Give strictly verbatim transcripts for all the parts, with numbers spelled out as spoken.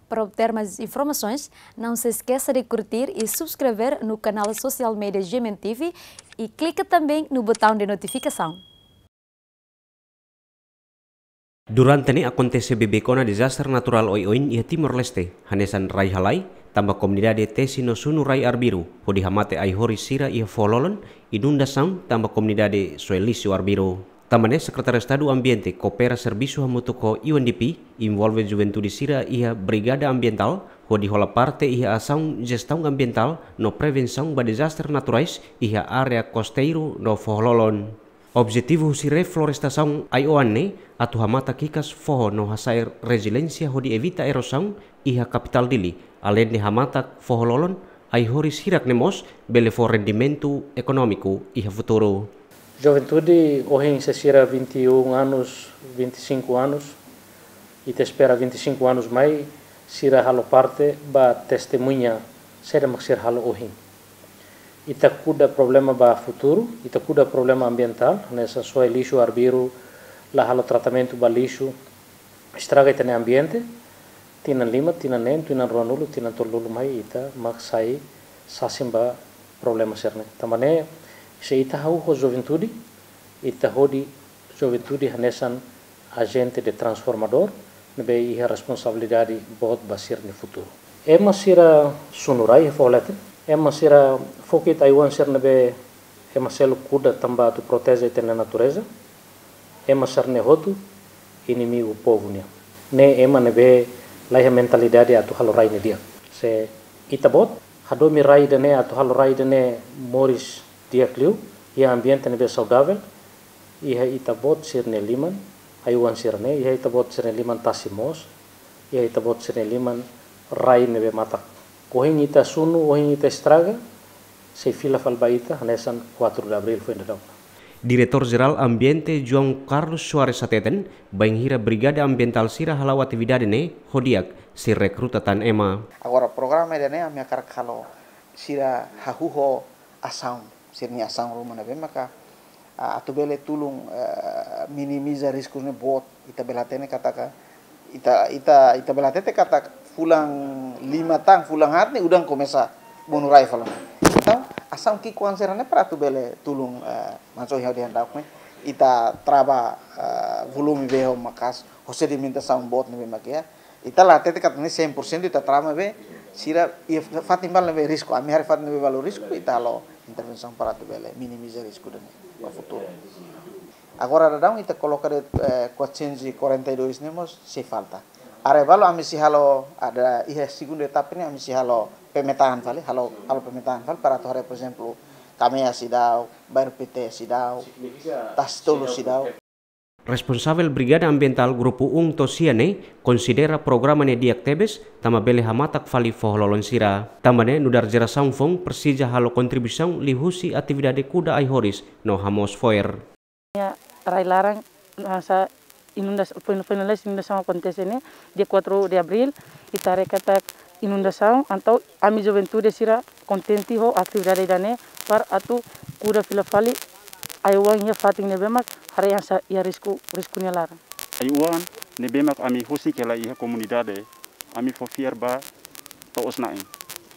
Para obter mais informações, não se esqueça de curtir e subscrever no canal social media G M N T V e clica também no botão de notificação. Durante ne'e akontese beibeik ona dezastre naturál oioin iha Timor-Leste, hanesan rai halai, tanba komunidade tesi no sunu rai arbiru, hodi hamate ai-horis sira iha foho-lolon, inundasaun, tanba komunidade soe lixu arbiru. Tanba ne'e Sekretáriu Estadu Ambiente koopera servisu hamutuk ho U N D P, envolve juventude sira iha Brigada Ambientál, hodi hola parte iha asaun jestaun ambientál no prevensaun ba dezastre naturais iha área kosteiru no foho-lolon. Objetivu husi reflorestasaun ai-oan ne'e atu hamatak hikas foho no hasa'e reziliénsia hodi evita erosaun iha kapitál Dili, aleinde hamatak foho-lolon, ai-horis hirak ne'e mós bele fó rendimentu ekonómiku iha futuru. Juventude ohin sei sira vinte e um anos, vinte e cinco anos, ita espera vinte e cinco anos mai, sira halo parte ba testemuña saida mak sira halo ohin. Ita kuda problema ba futuru, ita kuda problema ambientál, hanesan soe lixu arbiru, la halo tratamentu ba lixu, estraga ita-nia ambiente, tinan lima, tinan neen, tinan ruanulu, tinan tolunulu mai ita mak sai sasin ba problema sira-ne'e. Tanba ne'e, se ita hahú ho juventude, ita hodi juventude hanesan ajente de transformadór, ne'ebé iha responsabilidade boot ba sira-nia futuru. Ema sira sunu rai iha foho leten, ema sira fokit ai-oan sira ne'ebé ema seluk kuda tanba atu proteje ita-nia natureza, ema sira-ne'e hotu inimigu povu nian. Ne'e ema ne'ebé la iha mentalidade atu halo rai ne'e di'ak. Se ita-boot hadomi rai ida-ne'e atu halo rai ida-ne'e moris di'ak liu, iha ambiente ne'ebé saudavel, iha ita-boot sira-nia liman, ai-oan sira-ne'e, iha ita-boot sira-nia liman tasi moos, iha ita-boot sira-nia liman rai ne'ebé matak. Ohin ita sunu, ohin ita estraga, sei fila fali ba ita hanesan quatro de abril foin daudaun. Diretór Jerál Ambiente João Carlos Soares hateten, bainhira Brigada Ambientál sira hala'o atividade ne'e ho di'ak, sei rekruta tan ema. Agora programa ida-ne'e ami hakarak halo sira hahú ho asaun, sira-nia asaun ruma ne'ebé maka, ah, atu bele tulun, eh, minimiza risku ne'e boot. Ita bele hatene katak, ita, ita, ita bele hatete katak fulan lima tan, fulan haat ne'e udan komesa monu rai fali ona. Entaun, asaun ki'ikoan sira-ne'e para atu bele tulun, eh, mansó iha dehan dauk ne'e. Ita trava, eh, volume bee ho maka'as, ho sedimentasaun boot ne'ebé mak iha. Ita la hatete katak ne'e cem por cento ita trava maibé, sira iha fatin balu ne'ebé risku, ami haree fatin ne'ebé balu risku, ita halo intervensaun para atu bele minimiza risku ida-ne'e ba futuru. Agora daudaun ita koloka de'it, eh, quatrocentos e quarenta e dois ne'e mós sei falta. Área balu ami sei halo, iha segunda etapa ne'e ami sei halo pemetaan fali, halo, halo pemetaan fali para atu haree, por ezemplu, Kamea seidauk, Bairru Pité seidauk, Tasi Tolu seidauk. Responsavel Brigada Ambientál Grupu um to'o sia ne'e konsidera programa ne'e di'ak tebes, tanba bele hamatak fali foho-lolon sira. Tanba ne'e nu'udar jerasaun foun presiza halo kontribuisaun liuhusi atividade kuda ai-horis no hamoos fo'er. Rai laran, ah, sa inunda, foin, foin lalais inundasaun akontese ne'e, dia quatro de abril, ita haree katak inundasaun, entaun ami juventude sira kontente ho atividade ida-ne'e, para atu kuda fila fali ai-oan iha fatin ne'ebé mak haree hanesan iha risku, risku nia laran. Ai-oan ne'ebé mak ami husik hela iha komunidade, ami fó fiar ba to'os-na'in.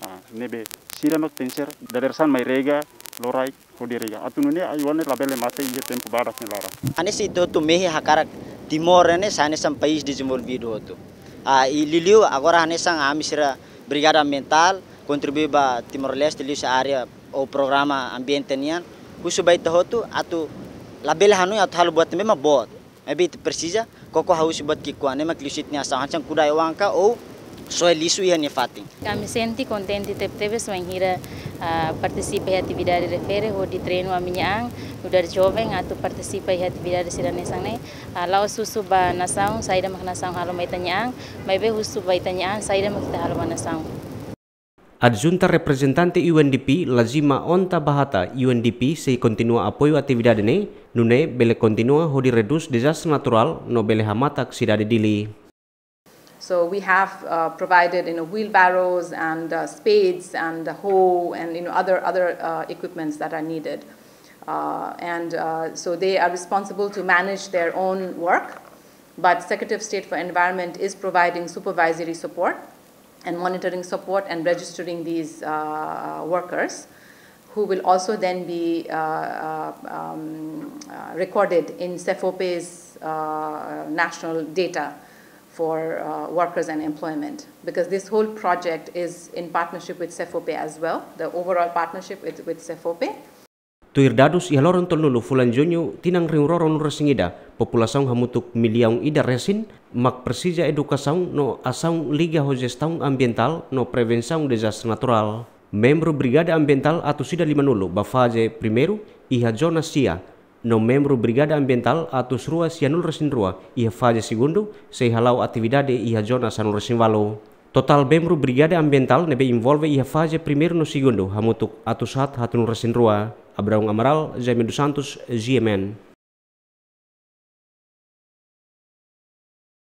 Ah, ne'ebé sira mak tenke ser dadeer-saan mai rega, lorokraik, hodi rega. Atu nune'e ai-oan ne'e labele mate iha tempu badak nia laran. Hanesan ita hotu mehi hakarak Timor ne'e sai hanesan país dezenvolvidu hotu. Ah, i liuliu agora hanesan ami sira Brigada Ambientál kontribui ba Timor-Leste liuhusi área ou programa ambiente nian. Husu ba ita hotu atu labele hanoin atu halo buat ne'ebé mak boot. Maibé ita presiza koko hahú husi buat ki'ikoan ne'e mak liuhusi ita-nia asaun hanesan kuda ai-oan ka ou soe lixu iha nia fatin. Ami sente kontente tebetebes bainhira, ah, partisipa iha atividade refere hodi treinu ami-nia an nu'udar joven atu partisipa iha atividade sira hanesan ne'e. Ah, la'ós husu ba nasaun saida mak nasaun halo mai ita-nia an, maibé husu ba ita-nia an saida mak ita halo ba nasaun. Adjunta reprezentante U N D P Lazima Onta Bahata, U N D P sei kontinua apoiu atividade ne'e, nune'e bele kontinua hodi redús dezastre naturál no bele hamatak sidade Dili. So we have, uh, provided, you know, wheelbarrows and, uh, spades and a hoe and, you know, other, other, uh, equipments that are needed. Uh, and, uh, so they are responsible to manage their own work, but Secretary of State for Environment is providing supervisory support. and monitoring support and registering these uh, workers, who will also then be uh, uh, um, uh, recorded in SEFOPE's uh, national data for uh, workers and employment, because this whole project is in partnership with SEFOPE as well, the overall partnership with, with SEFOPE. Tuir dadus iha loron tolunulu fulan Juñu tinan rihun rua ruanulu resin ida, populasaun hamutuk millaun ida resin mak presiza edukasaun no asaun liga ho jestaun ambientál no prevensaun dezastre naturál. Membru Brigada Ambientál atus ida limanulu ba faze primeiru iha zona sia, no membru Brigada Ambientál atus rua sianulu resin rua iha faze segundu sei hala'o atividade iha zona sanulu resin ualu. Totál membru Brigada Ambientál ne'ebé envolve iha faze primeiru no segundu hamutuk atus haat haatnulu resin rua. Abraão Amaral, Jaime dos Santos, G M N.